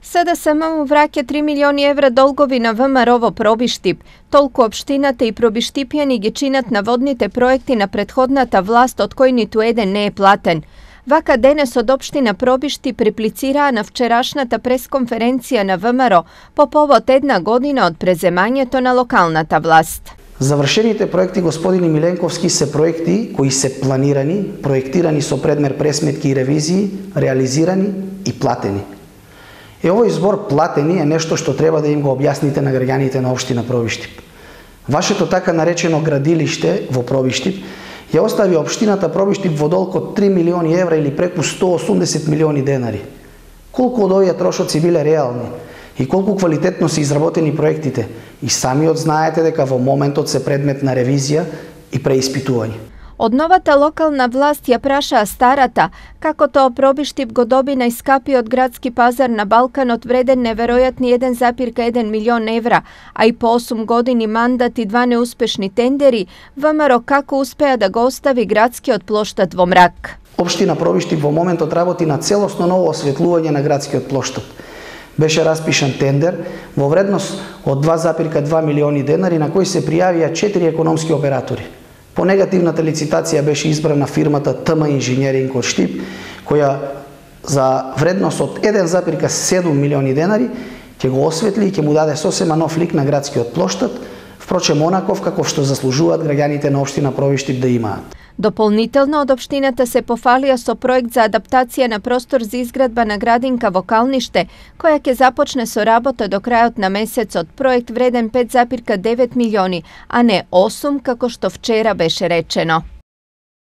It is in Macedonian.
СДСМ му враќа 3 милиони евра долгови на ВМРО во Пробиштип. Толку општината и пробиштипјани ги чинат наводните проекти на претходната власт, од кој ниту еден не е платен. Вака денес од општина Пробиштип реплицираа на вчерашната пресконференција на ВМРО по повод една година од преземањето на локалната власт. Завршените проекти, господине Миленковски, се проекти кои се планирани, проектирани со предмер пресметки и ревизии, реализирани и платени. Овој збор платени е нешто што треба да им го објасните на граѓаните на општина Пробиштип. Вашето така наречено градилиште во Пробиштип ја остави општината Пробиштип во долг од 3 милиони евра или преку 180 милиони денари. Колку од овие трошоци биле реални и колку квалитетно се изработени проектите, и самиот знаете дека во моментот се предмет на ревизија и преиспитување. Од новата локална власт ја прашаа старата, како тоа Пробиштип го доби најскапиот градски пазар на Балканот вреден неверојатни 1,1 милион евра, а и по 8 години мандат и 2 неуспешни тендери, ВМРО како успеа да го остави градскиот плоштад во мрак. Општина Пробиштип во моментот работи на целосно ново осветлување на градскиот плоштад. Беше распишан тендер во вредност од 2,2 милиони денари на кој се пријавија 4 економски оператори. По негативната лицитација беше избрана фирмата ТМ Инженеринг од Штип, која за вредност од 1,7 милиони денари ќе го осветли и ќе му даде сосема нов лик на градскиот плоштад, впрочем онаков како што заслужуваат граѓаните на општина Пробиштип да имаат. Дополнително од општината се пофалија со проект за адаптација на простор за изградба на градинка во Калниште, која ќе започне со работа до крајот на месецот. Проект вреден 5,9 милиони, а не 8 како што вчера беше речено.